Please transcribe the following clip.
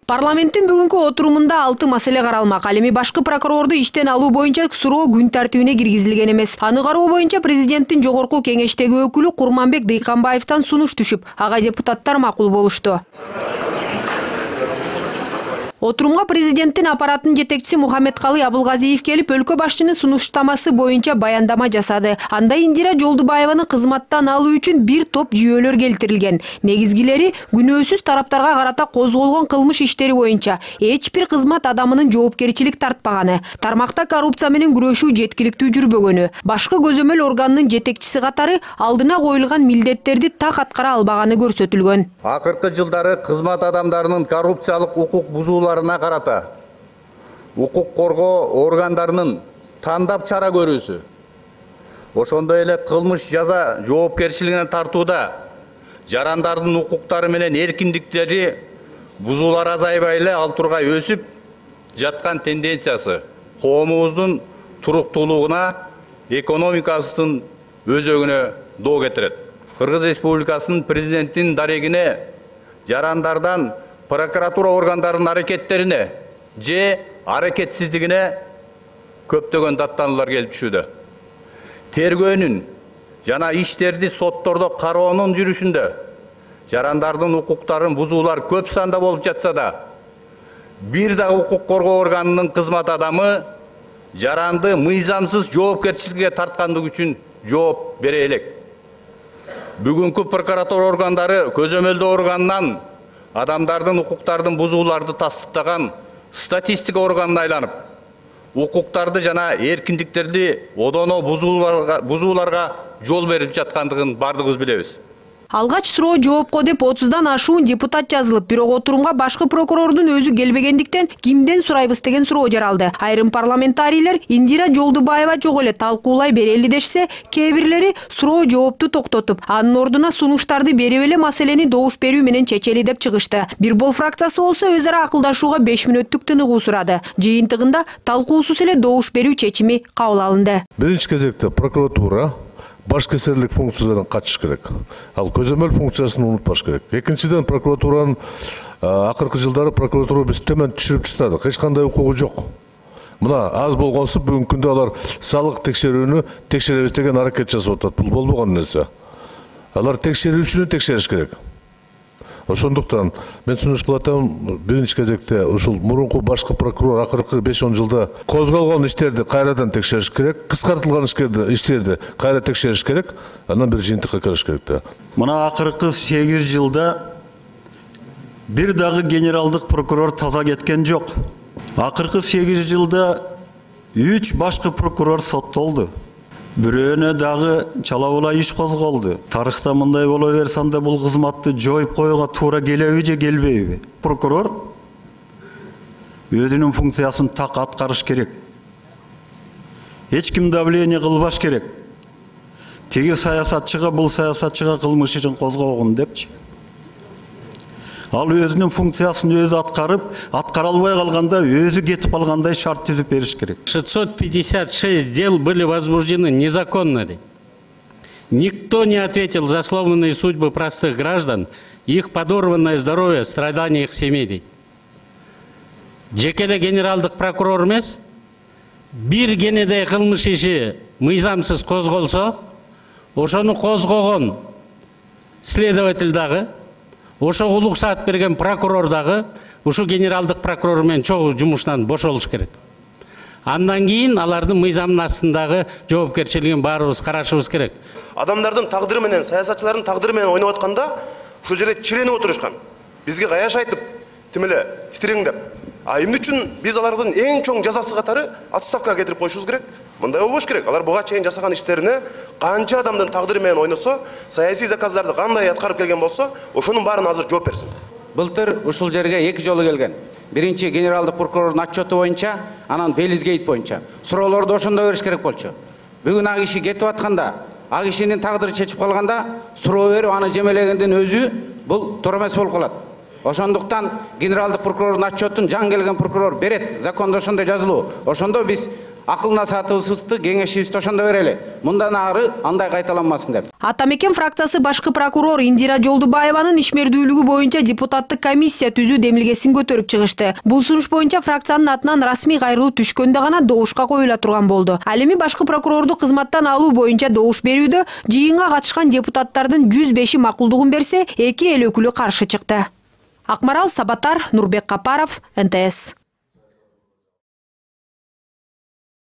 Парламенттин бүгүнкү отурумунда 6 маселе каралмак. Ал эми башкы прокурорду иштен алуу боюнча суроо күн тартибине киргизилген эмес. Аны кароо боюнча президенттин жогорку кеңештеги өкүлү Курманбек Дыйканбаевден сунуш түшүп, ага депутаттар макул болушту. Отурумга президенттин аппараттын жетекчиси Мухаммедкалый Абылгазиев келип, өлкө башчынын сунуштамасы боюнча баяндама жасады. Анда Индира Жолдубаеваны кызматтан алуу үчүн бир топ жүйөлөр келтирилген. Негизгилери күнөөсүз тараптарга карата козголгон кылмыш иштери боюнча эч бир кызмат адамынын жоопкерчилик тартпаганы, тармакта коррупция менен күрөшүү жеткиликтүү жүрбөгөнү, башкы көзөмөл органынын жетекчиси катары алдына коюлган милдеттерди так аткара албаганы көрсөтүлгөн. Акыркы жылдары кызмат адамдарынын коррупциялык укук бузууларына карата укук коргоо органдарынын тандап чара көрүүсү, ошондой эле кылмыш жаза жоопкерчилигине тартууда жарандардын укуктары менен эркиндиктери бузуулар азайбай эле ал тургай өсүп жаткан тенденциясы коомубуздун туруктуулугуна, экономикасынын өзөгүнө доо кетирет. Кыргыз Республикасынын президенттин дарегине жарандардан прокуратура органдарынын аракеттерине же аракетсиздигине көптөгөн даттануулар келип түшүүдө. Тергөөнүн жана иштерди соттордо кароонун жүрүшүндө жарандардын укуктарын бузуулар көп санда болуп жатса да, бир да укук коргоо органынын кызмат адамы жаранды мыйзамсыз жоопкерчиликке тарткандыгы үчүн жооп бере элек. Бүгүнкү прокуратура органдары көзөмөлдөө органынан адамдардын укуктардын бузууларды тастыктаган статистика органына айланып, укуктарды жана эркиндиктерди одоно бузууларга жол берип жаткандыгын бардыгыбыз билебиз. Алгач суроо жоопко деп 30дан ашуун депутат жазылып, бирок отурумга башкы прокурордун өзү келбегендиктен кимден сурайбыз деген суроо жаралды. Айрым парламентарийлер Индира Жолдубаева жок эле талкуулай берели дешсе, кээ бирлери суроо жоопту токтотуп, анын ордуна сунуштарды берип эле маселени добуш берүү менен чечели деп чыгышты. Бир бол фракциясы болсо өз ара акылдашууга 5 мүнөттүк тыныгуу сурады. Жыйынтыгында талкуусуз эле добуш берүү чечими кабыл алынды. Биринчи кезекте прокуратура башкы эсерлик функциялардан качыш керек. Ал көзөмөл функциясын унутпаш керек. Экинчиден, прокуратуранын акыркы жылдары прокуратура биз төмөн түшүрүп таштадык. Эч кандай укугу жок. Мына аз болгонсу бүгүнкү күндө алар салык текшерүүнү текшеребиз деген аракет жасап атат. Бул болбогон нерсе. Алар текшерүүчүнү текшериш керек. Ошондуктан мен сунуш кылып атам, биринчи кезекте ушул мурунку башкы прокурор акыркы 5-10 жылда козголгон иштерди кайрадан текшериш керек, кыскартылган иштерди кайра текшериш керек, андан бир жыйынтыкка келиш керек да. Мына акыркы 8 жылда бир дагы генералдык прокурор таза кеткен жок. Акыркы 8 жылда 3 башкы прокурор соттолду. Бирөөнө дагы чалабыла иш козголду. Тарыхта мындай боло берсе анда бул кызматты жоюп коюуга туура келеби же келбейби? Прокурор өзүнүн функциясын так аткарыш керек. Эч ким давление кылбаш керек. Теги саясатчыга бул саясатчыга кылмыш ишин козгогун депчи. Ал өзүнүн функциясын өзү аткара албай калганда өзү кетип калгандай шарт түзүп бериш керек. 656 дел были возбуждены незаконно. Никто не ответил за сломанные судьбы простых граждан, их подорванное здоровье, страдания их семей. Жекеле генералдык прокурор эмес, бир генедей кылмыш иши мыйзамсыз козголсо, ошону козгогон следователь дагы, ошого уруксат берген прокурор дагы ушу генералдык прокурор менен чогуу жумуштан бошолуш керек. Андан кийин алардын мыйзамдын астындагы жоопкерчилигин баарыбыз карашыбыз керек. Адамдардын тагдыры менен, саясатчылардын тагдыры менен ойноп атканда ушул жерде чиренип отурушкан. Бизге каяш айтып, тим эле титиреңдеп. А эмне үчүн биз алардын эң чоң жазасы катары отставкага кетирип коюшубуз керек? Мындай болбош керек. Алар буга чейин жасаган иштерине канча адамдын тагдыры менен ойносо, саясий заказдарды кандай аткарып келген болсо, ошонун баарын азыр жооп берсин. Былтыр ушул жерге 2 жолу келген. Биринчи генералдык прокурордун отчету боюнча, анан Белизгейт боюнча. Суроолорду ошондо бериш керек болчу. Бүгүн ак киши кетип атканда, ак кишинин тагдыры чечип калганда, суроо берип аны жемелегендин өзү бул туура эмес болуп калат. Ошондуктан генералдык прокурордун отчетун жан келген прокурор берет. Закондо ошондой жазылуу. Ошондо биз акыл насаатыбызды кеңешибизди ошондо берели. Мындан ары андай кайталанмасын деп. Ата Мекен фракциясы башкы прокурор Индира Жолдубаеванын ишмердүүлүгү боюнча депутаттык комиссия түзүү демилгесин көтөрүп чыгышты. Бул сунуш боюнча фракциянын атынан расмий кайрылуу түшкөндө гана добушка коюла турган болду. Ал эми башкы прокурорду кызматтан алуу боюнча добуш берүүдө жыйынга катышкан депутаттардын 105-и макулдугун берсе, 2 эл өкүлү каршы чыкты. Акмарал Сабатар, Нурбек Капаров, НТС.